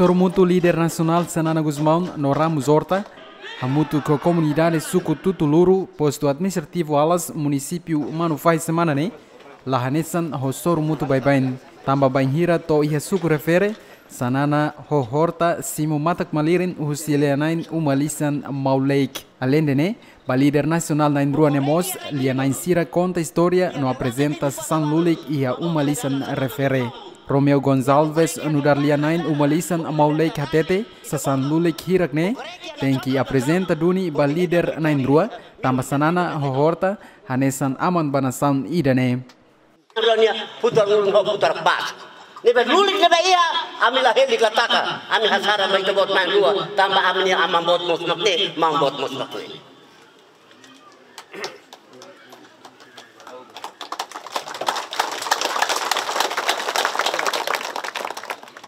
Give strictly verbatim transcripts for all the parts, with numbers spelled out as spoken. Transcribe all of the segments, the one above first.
Sorumutu líder nasionál Xanana Gusmão no Ramos Horta hamutuk ho komunidade suku Tutuluru, postu administrativu Alas, munisípiu Manufahi semana ne'e, la hanesan ho sorumutu baibain. Tanba bainhira to'o iha suku refere, Xanana ho Horta simu matak-malirin husi lia-na'in uma lisan Mau Leik. Aleinde ne'e, ba líder nasionál na'in-rua ne'e mós, lia-na'in sira konta istória no aprezenta sasán lulik iha uma lisan refere. Romeo Gonçalves nu'udar lia-na'in uma lisan Mau Leik hatete, sasán lulik hirak ne'e tenke aprezenta duni ba líder na'in-rua, tanba Xanana ho Horta hanesan aman ba nasaun ida-ne'e. Rania putar ulun ho putar bas. Ne'ebé lulik ne'ebé iha, ami la helik la taka. Ami hasara ba ita-boot na'in-rua, tanba ami-nia aman boot mós nakte, maun boot mós nakte.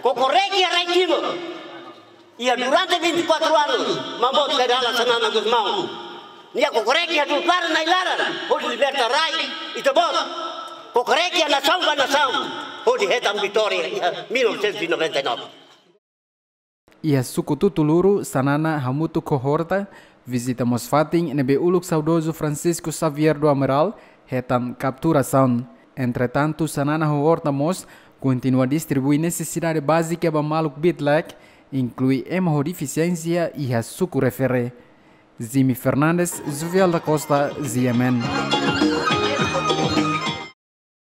Kokorek iha rai Timor. Iha durante vinte e quatro anos, maun boot Xanana Gusmão. Nia kokorek iha dulpar nai laran, hodi liberta rai ita-boot. Kokorek iha nasaun ba nasaun, hodi hetan vitória iha mil novecentos e noventa e nove. Iha suku Tutuluru, Xanana hamutuk ho Horta vizita mós fatin ne'ebé uluk saudozu Francisco Xavier do Amaral hetan kapturasaun. Entretantu, Xanana ho Horta mós kontinua distribui nesesidade bázika ba maluk bitlek, inklui ema ho defisiénsia iha suku refere. Zimi Fernandes, Juvial da Costa, G M N.